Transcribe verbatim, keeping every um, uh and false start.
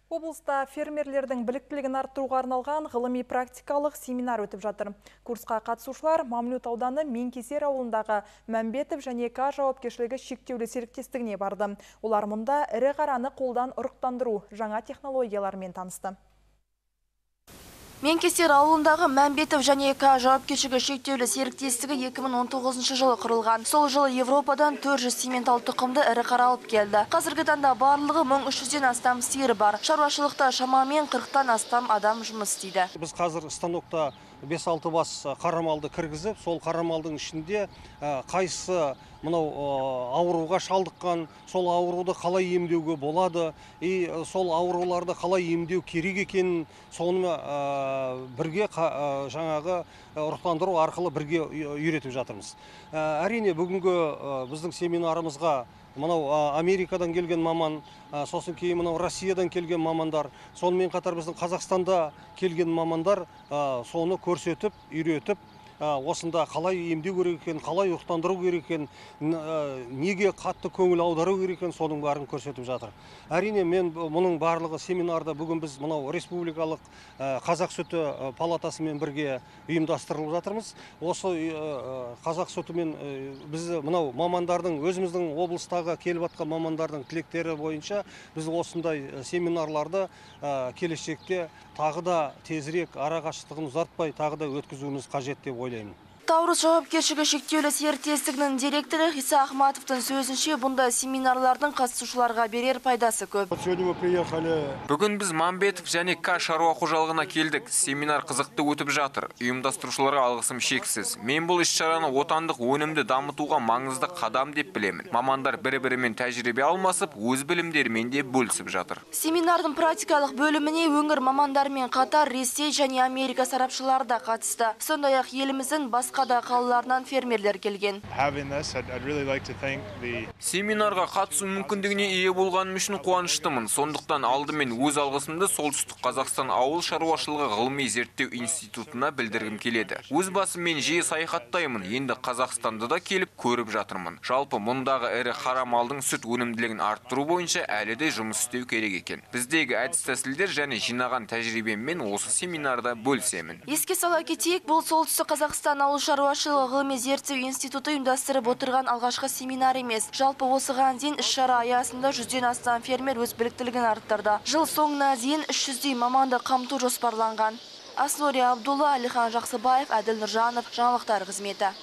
Облыста фермерлердің біліктілігін арттыруға арналған ғылыми практикалық семинар өтіп жатыр. Курсқа қатысушылар Мамлют ауданы Менкесер ауылындағы Мәмбетов және К жауапкершілігі шектеулі серіктестігіне барды. Олар мұнда ірі қараны қолдан ұрықтандыру жаңа технологиялармен танысты. Менкесер ауылындағы Мәмбетов және К жауапкершілігі шектеулі серіктестігі екі мың он тоғызыншы жылы құрылған. Сол жылы Европадан төрт жүз симментал тұқымды ірі қара алып келді. Қазіргі таңда барлығы мың үш жүзден астам сиыр бар. Шаруашылықта шамамен қырықтан астам адам жұмыс істейді. Біз қазір станокта бес алты бас қарамалды кіргізіп, сол қарамалдың ішінде қайсы мынау ауруға шалдыққан, сол ауруды қалай емдеуге болады, и сол ауруларды қалай емдеу керек екенін соны бірге жаңағы ұрықтандыру арқылы бірге үйретіп жатырмыз. Әрине бүгінгі біздің семинарымызға мынау Америкадан келген маман, сосын кейін мынау Россиядан келген мамандар, сонымен қатар біздің Қазақстанда келген мамандар соны көрсетіп, үйретіп, осында қалай емдеу керек екен, қалай ұрықтандыру керек екен, неге қатты көңіл аудару керек екен, соның барын көрсетіп жатыр. Әрине мен мұның барлығы семинарда бүгін біз мынау республикалық қазақ сүті палатасымен бірге ұйымдастырылып жатырмыз. Осы қазақ сүтімен біз мынау мамандардың, өзіміздің облыстағы келіп жатқан мамандардың тілектері бойынша біз осындай семинарларды келешекте тағы да тезірек ара қашықтығын ұзартпай тағы да өткізуіміз қажет деп ойлаймын. Таурус жауапкершілігі шектеулі серіктестігінің директоры Иса Ахматовтың сөзінше, бұнда семинарлардың қатысушыларға берер пайдасы көп. Бүгін біз Мамбетов және К шаруа қожалығына келдік. Семинар қызықты өтіп жатыр. Ұйымдастырушыларға алғысым шексіз. Мен бұл іс-шараны отандық өнімді дамытуға маңызды қадам деп білемін. Мамандар бір-бірімен тәжірибе алмасып, өз білімдерімен де бөлісіп жатыр. Семинардың практикалық бөліміне өңір мамандармен қатар Ресей және Америка сарапшылары да қатысты. Сондай-ақ еліміздің басқа да қалаларынан фермерлер келген. Семинарға қатысу мүмкіндігіне ие болғаным үшін қуаныштымын. Сондықтан алдымен өз алғысымды Солтүстік Қазақстан ауыл шаруашылығы ғылыми зерттеу институтына білдіргім келеді. Өз басым мен жиі саяхаттаймын. Енді Қазақстанды да келіп көріп жатырмын. Жалпы мұндағы ірі қара малдың сүт өнімділігін арттыру бойынша әлі де жұмыс істеу керек екен. Біздегі әдіс-тәсілдер және жинаған тәжірибеммен осы семинарда бөлісемін. Еске сала кетейік, бұл Солтүстік Қазақстан ауыл шаруашылығы ғылыми зерттеу институты ұйымдастырып отырған алғашқы семинар емес. Жалпы осыған дейін іс-шара аясында жүзден астам фермер өз біліктілігін арттырды. Жыл соңына дейін үш жүздей маманды қамту жоспарланған. Аслория Абдулла, Алихан Жақсыбаев, Әділ Нұржанов, жаңалықтар қызметі.